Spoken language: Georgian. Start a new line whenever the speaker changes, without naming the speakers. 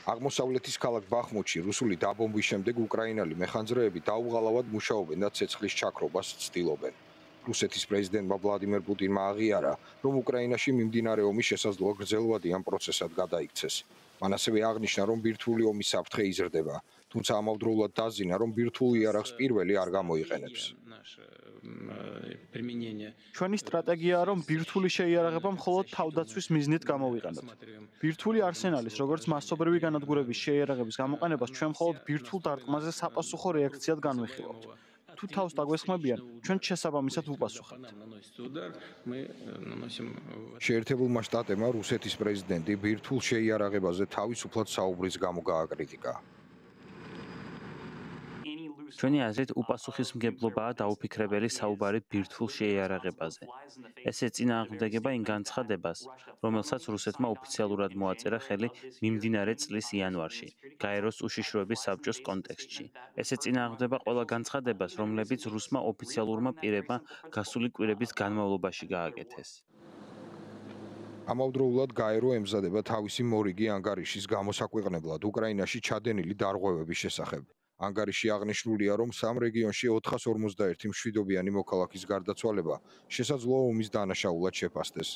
აღმოსავლეთის ქალაქ ბახმუთში რუსული დაბომბვის შემდეგ უკრაინელი მეხანძრეები დაუღალავად მუშაობენ და ცეცხლის ჩაქრობას ცდილობენ. რუსეთის პრეზიდენტმა ვლადიმერ პუტინმა აღიარა, რომ უკრაინაში მიმდინარე ომი შესაძლოა გრძელვადიან პროცესად გადაიქცეს. მან ასევე აღნიშნა, რომ ბირთვული ომის საფრთხე იზრდება, თუმცა ამავდროულად დაზინა, რომ ბირთვულ იარაღს პირველი არ გამოიყენებს.
ჩვენი სტრატეგიაა, რომ ბირთვული შეიარაღება მხოლოდ თავდაცვის მიზნით გამოვიყენოთ. ბირთვული არსენალის, როგორც მასობრივი განადგურების შეიარაღების გამოყენებას ჩვენ მხოლოდ ბირთვულ დარტყმაზე საპასუხო რეაქციად განვიხილავთ. თუ თავს დაგვესხმებიან, ჩვენ შესაბამისად ვუპასუხებთ.
შეერთებულმა შტატებმა რუსეთის პრეზიდენტი ბირთვულ შეიარაღებაზე თავისუფლად საუბრის გამო გააკრიტიკა.
ჩვენი აზრით უპასუხისმგებლობაა დაუფიქრებელი საუბარი ბირთვულ შეიარაღებაზე. ეს ეწინააღმდეგება იმ განცხადებას, რომელსაც რუსეთმა ოფიციალურად მოაწერა ხელი მიმდინარე წლის იანვარში, გაეროს უშიშროების საბჭოს კონტექსტში. ეს ეწინააღმდება ყველა განცხადებას, რომლებიც რუსმა ოფიციალურმა პირებმა გასული კვირების განმავლობაში გააკეთეს.
ამავდროულად გაერო ემზადება თავისი მორიგი ანგარიშის გამოსაქვეყნებლად უკრაინაში ჩადენილი დარღვევების შესახებ. ანგარიში აღნიშნულია, რომ სამ რეგიონში 451 მშვიდობიანი მოქალაქის გარდაცვალება შესაძლოა ომის დანაშაულად შეფასდეს.